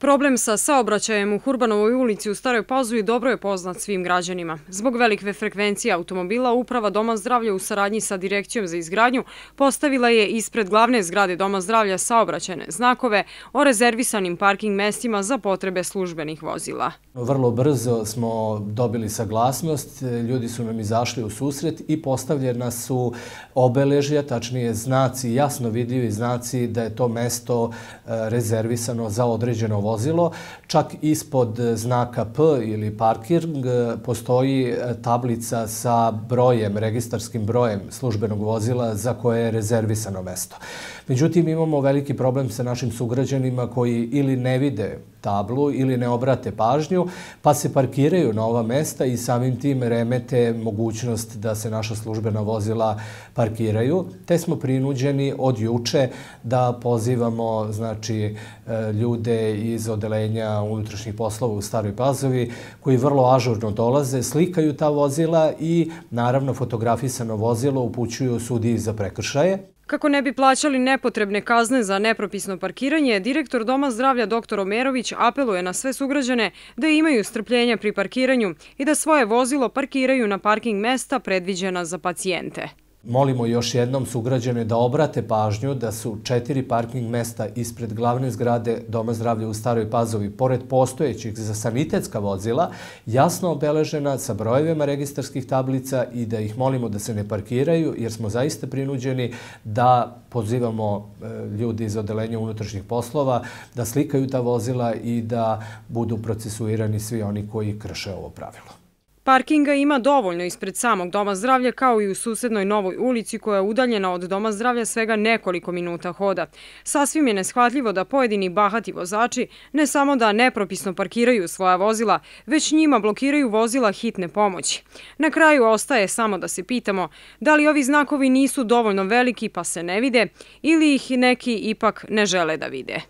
Problem sa saobraćajem u Hurbanovoj ulici u Staroj Pazovi dobro je poznat svim građanima. Zbog velike frekvencije automobila, Uprava Doma zdravlja u saradnji sa Direkcijom za izgradnju postavila je ispred glavne zgrade Doma zdravlja saobraćajne znakove o rezervisanim parking mestima za potrebe službenih vozila. Vrlo brzo smo dobili saglasnost, ljudi su nam izašli u susret i postavljena su obeležja, tačnije znaci, jasno vidljivi znaci da je to mesto rezervisano za određeno vozilo. Čak ispod znaka P ili parking postoji tablica sa brojem, registarskim brojem službenog vozila za koje je rezervisano mesto. Međutim, imamo veliki problem sa našim sugrađanima koji ili ne vide tablu ili ne obrate pažnju, pa se parkiraju na ova mesta i samim tim remete mogućnost da se naša službena vozila parkiraju. Te smo prinuđeni od juče da pozivamo ljude iz odelenja unutrašnjih poslova u Staroj Pazovi koji vrlo ažurno dolaze, slikaju ta vozila i naravno fotografisano vozilo upućuju sudiji za prekršaje. Kako ne bi plaćali nepotrebne kazne za nepropisno parkiranje, direktor Doma zdravlja dr. Omerović apeluje na sve sugrađane da imaju strpljenja pri parkiranju i da svoje vozilo parkiraju na parking mesta predviđena za pacijente. Molimo još jednom sugrađane da obrate pažnju da su 4 parking mesta ispred glavne zgrade Doma zdravlja u Staroj Pazovi, pored postojećih za sanitetska vozila, jasno obeležena sa brojevima registarskih tablica i da ih molimo da se ne parkiraju jer smo zaista prinuđeni da pozivamo ljudi iz odelenja unutrašnjih poslova da slikaju ta vozila i da budu procesuirani svi oni koji krše ovo pravilo. Parkinga ima dovoljno ispred samog Doma zdravlja kao i u susednoj Novoj ulici koja je udaljena od Doma zdravlja svega nekoliko minuta hoda. Sasvim je neshvatljivo da pojedini bahati vozači ne samo da nepropisno parkiraju svoja vozila, već njima blokiraju vozila hitne pomoći. Na kraju ostaje samo da se pitamo da li ovi znakovi nisu dovoljno veliki pa se ne vide ili ih neki ipak ne žele da vide.